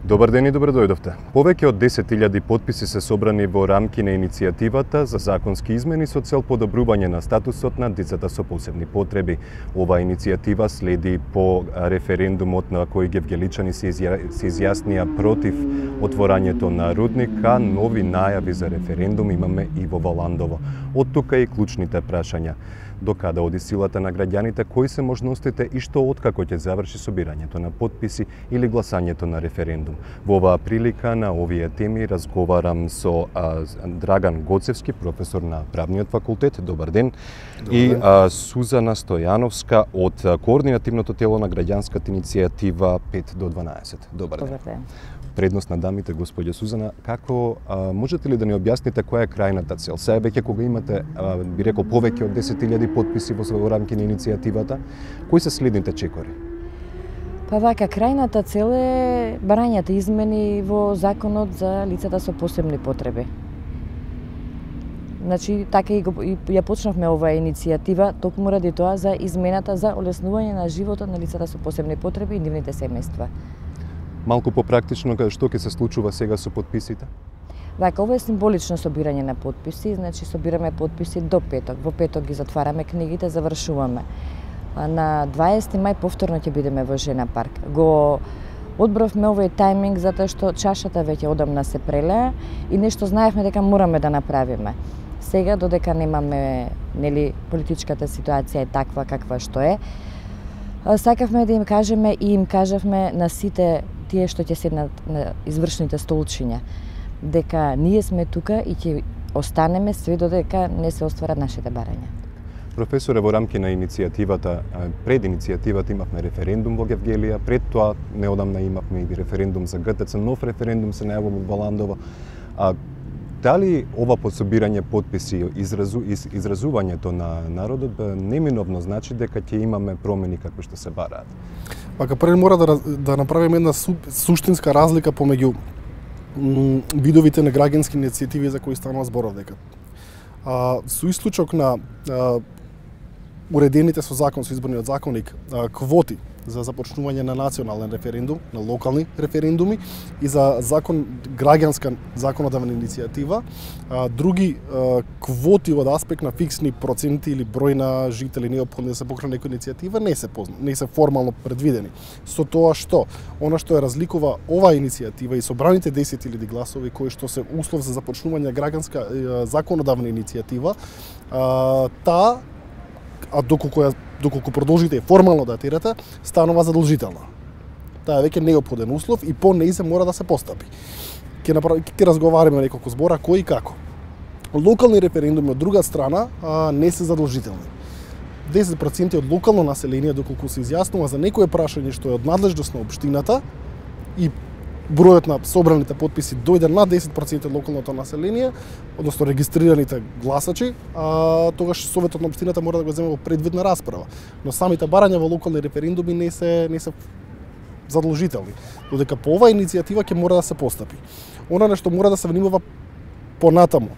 Добар ден и добро дојдовте. Повеќе од 10.000 потписи се собрани во рамки на иницијативата за законски измени со цел подобрување на статусот на децата со посебни потреби. Оваа иницијатива следи по референдумот на кој гевгеличани се изјаснија против отворањето на рудника. Нови најави за референдум имаме и во Валандово. Од тука и клучните прашања. До каде оди силата на граѓаните, кои се можностите и што откако ќе заврши собирањето на потписи или гласањето на референдум. Во оваа прилика на овие теми разговарам со Драган Гоцевски, професор на Правниот факултет. Добар ден. Добар ден. И Сузана Стојановска од координативното тело на граѓанската иницијатива 5 до 12. Добар ден. Добар ден. Предност на дамите, господја Сузана, како можете ли да ни објасните која е крајната цел? Сега веќе кога имате, би рекол, повеќе од 10.000 потписи во рамки на иницијативата, кои се следните чекори? Па вака, крајната цел е барањата измени во законот за лицата со посебни потреби. Значи, така и ја почнавме оваа иницијатива токму ради тоа за измената за олеснување на животот на лицата со посебни потреби и нивните семејства. Малку попрактично, што ќе се случува сега со потписите? Вака, ова е символично собирање на потписи, значи собираме потписи до петок. Во петок ги затвараме книгите, завршуваме. На 20 мај повторно ќе бидеме во Жена парк. Го одбравме овој тајминг затоа што чашата веќе одамна се прелеа и нешто знаевме дека мораме да направиме. Сега, додека немаме, нели, политичката ситуација е таква каква што е, сакавме да им кажеме и им кажавме на сите тие што ќе седнат на извршните столчиња, дека ние сме тука и ќе останеме све додека не се остварат нашите барања. Професоре, во рамки на иницијативата, пред иницијативата имавме референдум во Гевгелија, пред тоа неодамна имавме и референдум за ГТЦ, нов референдум се најавува во Валандово. Дали ова пособирање потписи, изразувањето на народот неминовно значи дека ќе имаме промени како што се бараат? Пака пред мора да направиме една суштинска разлика помеѓу видовите на граѓански иницијативи за кои станува зборов дека. Со исклучок на уредените со закон, со изборниот законник, квоти за започнување на национален референдум, на локални референдуми и за граѓанска законодавна иницијатива, други квоти од аспект на фиксни проценти или број на жители неопходни да се покрene некоја иницијатива не се формално предвидени. Со тоа што она што ја разликува оваа иницијатива и собраните 10.000 гласови кои што се услов за започнување граѓанска законодавна иницијатива, доколку продолжите формално да тирате, станува задолжителна. Таа е веќе неопходен услов и по неј се мора да се постапи. Ќе разговараме неколку збора кој и како. Локални референдуми од друга страна не се задолжителни. 10% од локално население доколку се изјаснува за некое прашање што е од надлежност на општината и бројот на собраните потписи дојде над 10% од локалното население, односно регистрираните гласачи, тогаш Советот на општината мора да го земе во предвидна расправа. Но самите барања во локални референдуми не се задолжителни. Додека по оваа иницијатива ќе мора да се постапи. Она нешто мора да се внимава понатаму.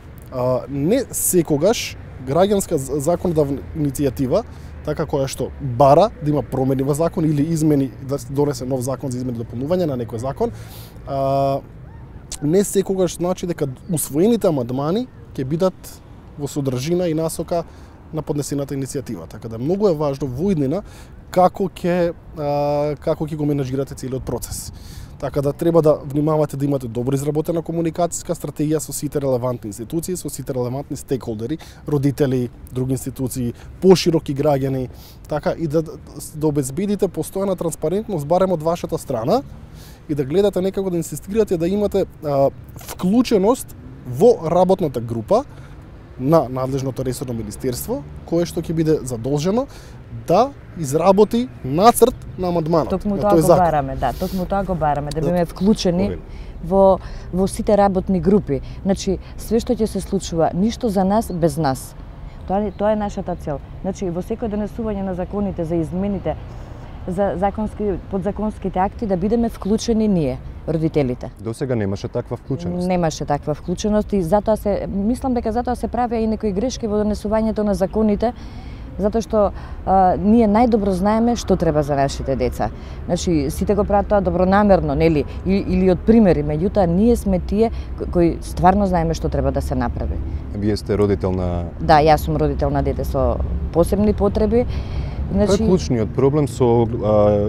Не секогаш граѓанска законодавна иницијатива, така која што бара да има промени во закон или измени, да се донесе нов закон за измени и дополнување на некој закон, не секогаш значи дека усвоените амандмани ќе бидат во содржина и насока на поднесената иницијатива. Така да многу е важно во иднина како ќе го менаџирате целиот процес. Така да треба да внимавате да имате добро изработена комуникацијска стратегија со сите релевантни институции, со сите релевантни стейкхолдери, родители, други институции, пошироки граѓани, така и да обезбедите постојана транспарентност барем од вашата страна и да гледате некако да инсистирате да имате вклученост во работната група на надлежното ресорно министерство, кое што ќе биде задолжено да изработи нацрт на амандманот. Токму тоа го бараме, токму тоа го бараме, да биме вклучени во сите работни групи. Значи, све што ќе се случува, ништо за нас без нас. Тоа е нашата цел. Значи, во секој донесување на законите за измените, за подзаконските акти, да бидеме вклучени ние, родителите. До сега немаше таква вклученост. Немаше таква вклученост и мислам дека затоа се правеа и некои грешки во донесувањето на законите, затоа што ние најдобро знаеме што треба за нашите деца. Значи, сите го прават тоа добронамерно, нели, или од примери, меѓутоа ние сме тие кои стварно знаеме што треба да се направи. Вие сте родител на... Да, јас сум родител на дете со посебни потреби. Значи... Тој е клучниот проблем со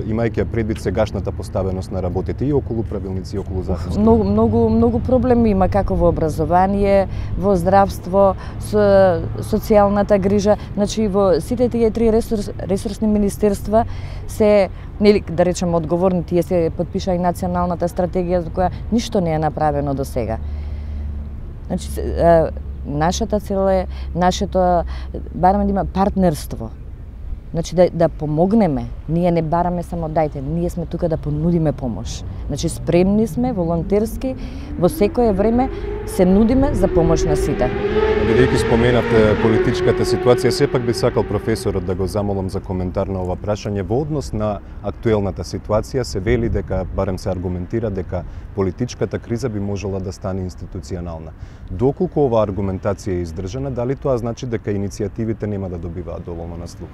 имајќи предвид сегашната поставеност на работите и околу правилници и околу законски. Многу проблеми има како во образование, во здравство, со социјалната грижа. Значи во сите тие три ресурсни министерства се, нели да речеме одговорни, тие се потпиша и националната стратегија за која ништо не е направено до сега. Значи нашата цел е барем да има партнерство. Значи да помогнеме, ние не бараме само дајте, ние сме тука да понудиме помош. Значи спремни сме, волонтерски, во секое време се нудиме за помош на сите. Бидејќи споменавте политичката ситуација, сепак би сакал професорот да го замолам за коментар на ова прашање. Во однос на актуелната ситуација се вели дека, барем се аргументира, дека политичката криза би можела да стане институционална. Доколку оваа аргументација е издржана, дали тоа значи дека иницијативите нема да добиваат доволно на слух?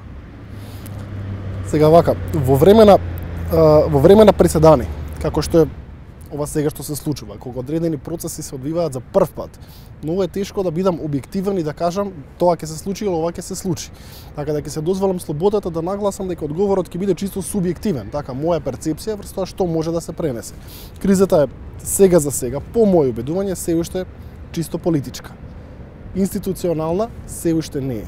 Сега вака, во време на преседани, како што е ова сега што се случува, кога одредени процеси се одвиваат за прв пат, многу е тешко да бидам објективен и да кажам тоа ќе се случи или ова ќе се случи. Така да ќе се дозволам слободата да нагласам дека одговорот ќе биде чисто субјективен, така моја перцепција врз тоа што може да се пренесе. Кризата е сега за сега, по моје убедување, се уште чисто политичка. Институционална се уште не е.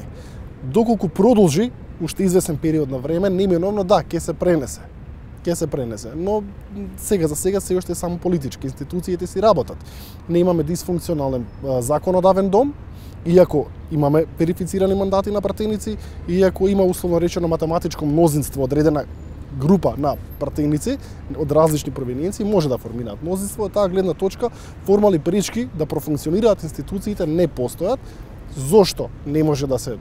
Доколку продолжи уште извесен период на време, неминовно да, ќе се пренесе. Ќе се пренесе, но сега за сега се уште само политички. Институциите си работат. Не имаме дисфункционален законодавен дом, иако имаме верифицирани мандати на пратеници, иако има условно речено математичко мнозинство, одредена група на пратеници од различни провиниенции може да формираат мнозинство, од таа гледна точка формални пречки да профункционираат институциите не постојат. Зошто не може да се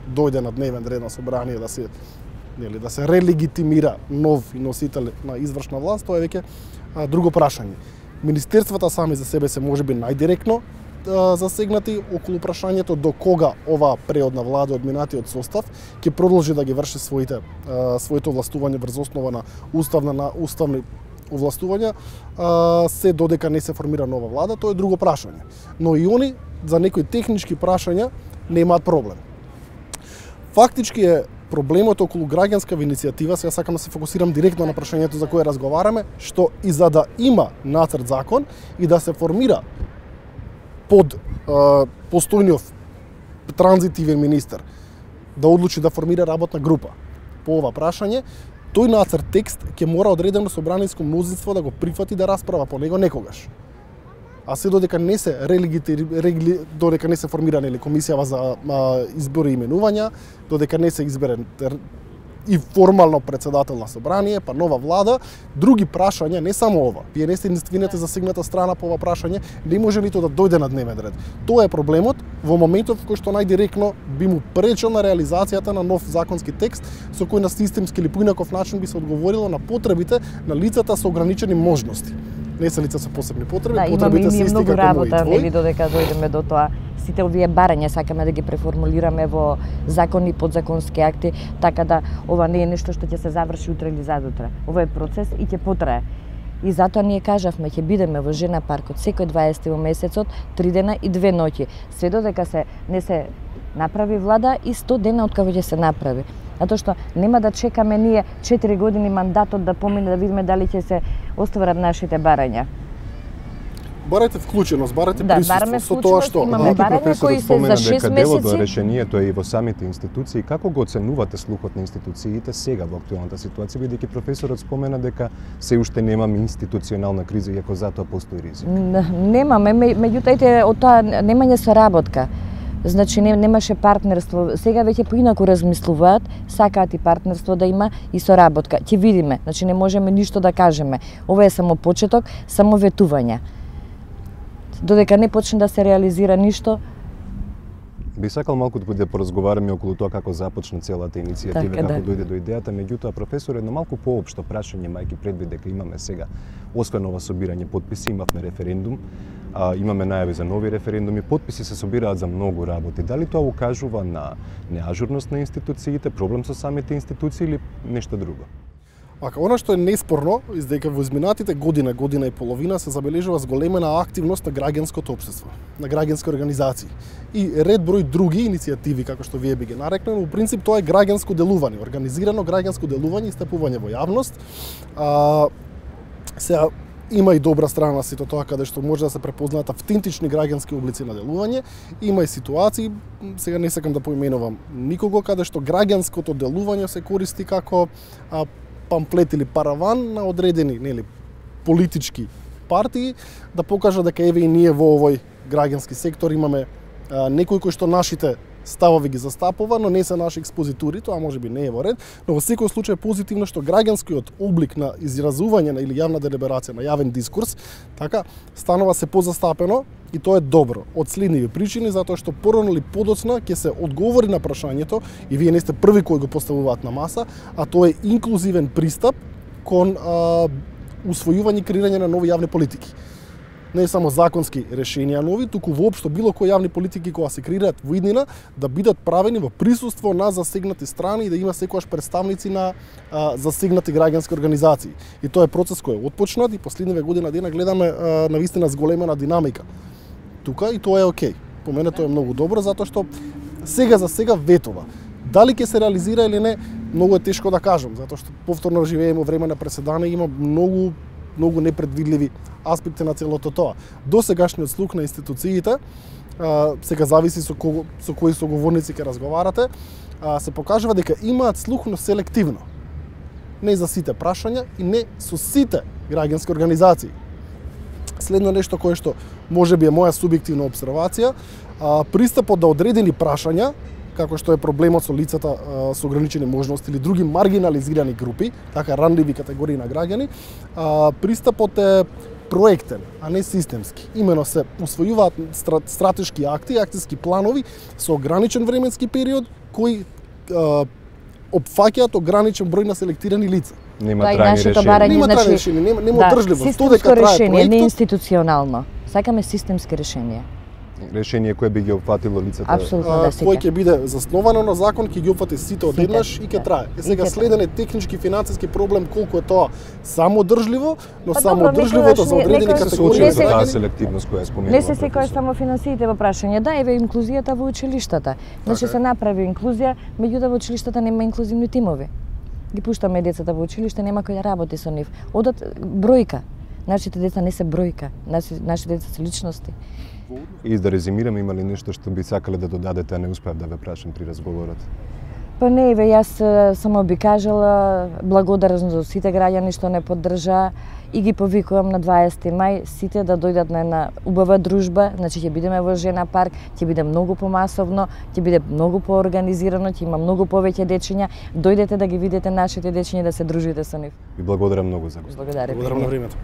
дојде на дневен ред на собрание да се релегитимира нов носител на извршна власт, тоа е веќе друго прашање. Министерствата сами за себе се можеби најдиректно засегнати околу прашањето до кога ова преодна влада од минатиот состав ќе продолжи да ги врши своите овластување врз основа на уставни овластувања, се додека не се формира нова влада, тоа е друго прашање. Но и они за некои технички прашања немаат проблем. Фактички е проблемот околу граѓанска иницијатива, сега сакам да се фокусирам директно на прашањето за кое разговараме, што и за да има нацрт закон и да се формира под постојниот транзитивен министер да одлучи да формира работна група по ова прашање, тој нацрт текст ќе мора одредено собраниско мнозинство да го прифати да расправа по него некогаш. А се додека не се додека не се формира комисија за избори и именувања, додека не се избере и формално председател на собрание, па нова влада, други прашања, не само ова. Вие не сте единствената засегната страна по ова прашање, не може нито да дојде на дневен ред. Тоа е проблемот во моментот во кој што најдиректно би му пречил на реализацијата на нов законски текст со кој на системски или поинаков начин би се одговорило на потребите на лицата со ограничени можности. Не се лица со посебни потреби, да, потребите се исти како мои и твои. Нели додека дојдеме до тоа, сите овие барања сакаме да ги преформулираме во закони и подзаконски акти, така да ова не е нешто што ќе се заврши утре или задутре. Ова е процес и ќе потрае. И затоа ние кажавме, ќе бидеме во Жена паркот секој 20 во месецот, 3 дена и 2 ноќи, се додека не се направи влада и 100 дена откако ќе се направи. Затоа што нема да чекаме ние 4 години мандатот да помине да видиме дали ќе се остварат нашите барања. Барате вклученост, барате присуство со тоа што имаме барања кои се за 6 месеци. Дело до решението е и во самите институции. Како го оценувате слухот на институциите сега во актуелната ситуација, бидејќи професорот спомена дека се уште немаме институционална криза, иако затоа постои ризик? Немаме, меѓутоа од тоа немање соработка. Значи немаше партнерство. Сега веќе поинаку размислуваат, сакаат и партнерство да има и соработка. Ќе видиме. Значи не можеме ништо да кажеме. Ова е само почеток, само ветувања. Додека не почне да се реализира ништо. Би сакал малку да поразговараме околу тоа како започна целата иницијатива, така, како дојде до идејата, меѓутоа професор, едно малку поопшто прашање, мајки предвид дека имаме сега, освен ова собирање потписи, имавме референдум, имаме најави за нови референдуми, потписи се собираат за многу работи. Дали тоа укажува на неажурност на институциите, проблем со самите институции или нешто друго? Она што е неспорно, издека во изминатите година и половина се забележува зголемена активност на граѓанското општество, на граѓански организации и ред број други иницијативи, како што вие би ги нарекли, но во принцип тоа е граѓанско делување, организирано граѓанско делување и стапување во јавност. Сега има и добра страна на сето тоа каде што може да се препознаат автентични граѓански облици на делување, има и ситуации, сега не сакам да поименувам никого, каде што граѓанското делување се користи како памфлет или параван на одредени политички партии да покажа дека еве и ние во овој граѓански сектор имаме некои кои што нашите ставови ги застапува, но не се наши експозитури, тоа можеби не е во ред, но во секој случај е позитивно што граѓанскиот облик на изразување или јавна делиберација, на јавен дискурс, така станува се позастапено и тоа е добро од следниви причини, затоа што порано или подоцна ќе се одговори на прашањето и вие не сте први кои го поставуваат на маса, а тоа е инклузивен пристап кон усвојување и креирање на нови јавни политики. Не само законски решенија нови, туку воопшто било кои јавни политики кога се креираат во иднина да бидат правени во присуство на засегнати страни и да има секогаш представници на засегнати граѓански организации. И тоа е процес кој е отпочнат и последниве година дена гледаме навистина зголемена динамика. Тука и тоа е окей. По мене тоа е многу добро затоа што сега за сега ветува. Дали ќе се реализира или не, многу е тешко да кажам, затоа што повторно живееме во време на преседание, има многу непредвидливи аспекти на целото тоа. До сегашниот слух на институциите, сега зависи со кои соговорници ќе разговарате, се покажува дека имаат слух, но селективно. Не за сите прашања и не со сите граѓански организации. Следно нешто кое што можеби е моја субјективна обсервација, пристапот да одредени прашања, како што е проблемот со лицата со ограничени можности или други маргинализирани групи, така ранливи категории на граѓани, пристапот е проектен, а не системски. Имено се усвојуваат стратешки акти, акциски планови со ограничен временски период кои опфаќаат ограничен број на селектирани лица. Нема трајни решенија. Нема трајни решенија, нема одржливост. Системско решение, не институционално. Сакаме системски решенија. Решение кое би ги опфатило лицата. Апсолутно да сите. Кој ќе биде засновано на закон, ќе ги опфати сите одеднаш и ќе трае. Сега следен е технички финансиски проблем колку е тоа самоодржливо, но самоодржливото за одредени категории за таа селективност која споменува. Не се секогаш само финансиите во прашање. Да, еве инклузијата во училиштата. Значи се направи инклузија, меѓутоа во училиштата нема инклузивни тимови. Ги пуштаме децата во училиште, нема кој да работи со нив. Одат бројка. Нашите деца не се бројка, нашите деца се личности. И да резимираме, има ли нешто што би сакале да додадете, а не успеав да ве прашам при разговорот? Па не, еве, јас само би кажала благодарност за сите граѓани што не поддржаа и ги повикувам на 20 мај сите да дојдат на една убава дружба, значи ќе бидеме во Жена парк, ќе биде многу помасовно, ќе биде многу поорганизирано, ќе има многу повеќе дечиња, дојдете да ги видите нашите дечиња и да се дружите со нив. Ви благодарам многу за гостот. Благодарам на времето.